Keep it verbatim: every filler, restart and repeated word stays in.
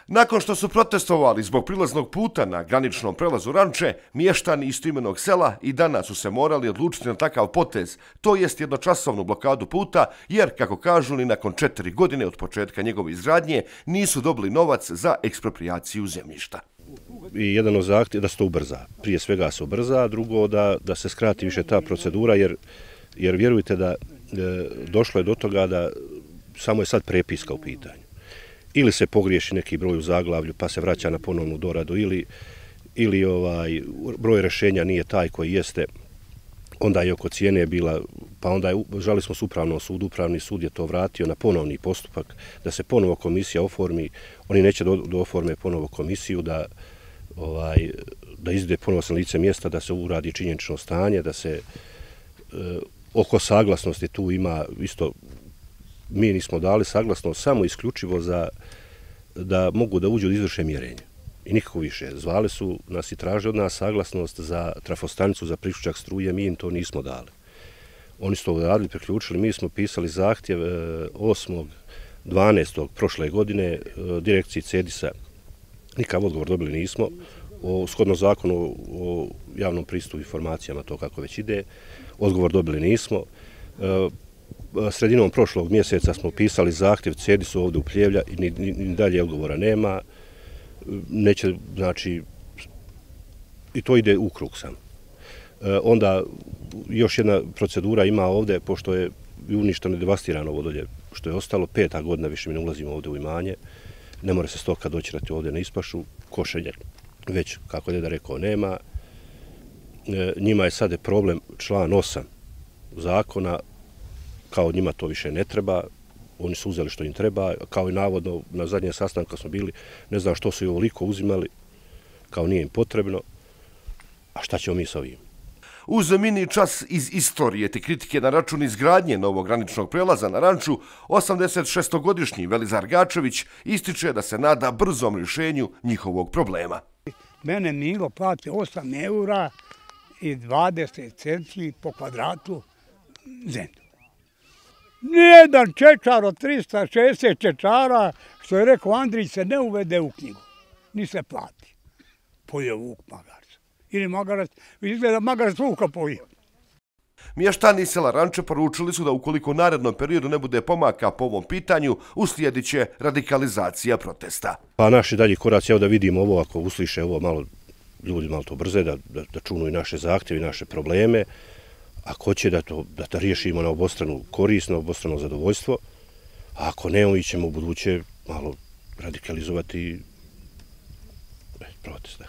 Nakon što su protestovali zbog prilaznog puta na graničnom prelazu Ranče, mještani istoimenog sela i danas su se morali odlučiti na takav potez, to jest jednočasovnu blokadu puta, jer, kako kažu, ni nakon četiri godine od početka njegove izgradnje nisu dobili novac za eksproprijaciju zemljišta. I jedan od zahtjeva da se to ubrza. Prije svega se ubrza, a drugo da, da se skrati više ta procedura, jer, jer vjerujte da e, došlo je do toga da samo je sad prepiska u pitanju. Ili se pogriješi neki broj u zaglavlju pa se vraća na ponovnu doradu, ili, ili ovaj, broj rješenja nije taj koji jeste, onda je oko cijene bila, pa onda je, žali smo s upravnom sudu, upravni sud je to vratio na ponovni postupak, da se ponovo komisija oformi, oni neće do, do oforme ponovo komisiju, da, ovaj, da izde ponovo sa lice mjesta, da se uradi činjenično stanje, da se e, oko saglasnosti tu ima isto. Mi nismo dali saglasnost samo isključivo za da mogu da uđu da izvrše mjerenje. I nikako više. Zvali su nas i traže od nas saglasnost za trafostanicu, za priključak struje, mi im to nismo dali. Oni su to uradili, priključili, mi smo pisali zahtjev osmog dvanaestog prošle godine direkciji Cedisa. Nikakav odgovor dobili nismo. O, shodno zakonu o javnom pristupu informacijama, to kako već ide, odgovor dobili nismo. Sredinom prošlog mjeseca smo pisali zahtjev Cedisu ovdje u Pljevlja i ni, ni, ni dalje odgovora nema. Neće, znači, i to ide u krug sam. E, onda još jedna procedura ima ovdje, pošto je uništeno i devastirano ovo dolje, što je ostalo, peta godina više mi ne ulazimo ovdje u imanje, ne mora se stoka doćerati ovdje na ispašu, košenje već, kako je da rekao, nema. E, njima je sad problem član osam zakona, kao njima to više ne treba, oni su uzeli što im treba, kao i navodno na zadnjem sastanku kad smo bili, ne znam što su i ovoliko uzimali, kao nije im potrebno, a šta ćemo mi sa ovim? Uz mini čas iz istorije te kritike na račun izgradnje novog graničnog prelaza na Ranču, osamdeset šestogodišnji Velizar Gačević ističe da se nada brzom rješenju njihovog problema. Mene Milo plati osam eura i dvadeset centi po kvadratu zemlju. Nijedan čečar od trista šezdeset čečara, što je rekao Andrić, se ne uvede u knjigu. Ni se plati. Pojeo vuk magarac. Ili magarac, izgleda magarac vuka pojeo. Mještani sela Ranče poručili su da ukoliko u narednom periodu ne bude pomaka po ovom pitanju, uslijedit će radikalizacija protesta. Pa naši dalji koraci, evo da vidimo ovo, ako usliše ovo malo, ljudi malo to brze, da, da, da čunu i naše zahtjeve i naše probleme. Ako će da to, da to riješimo na obostranu korist, na obostrano zadovoljstvo, a ako ne, mi ćemo u buduće malo radikalizovati protest.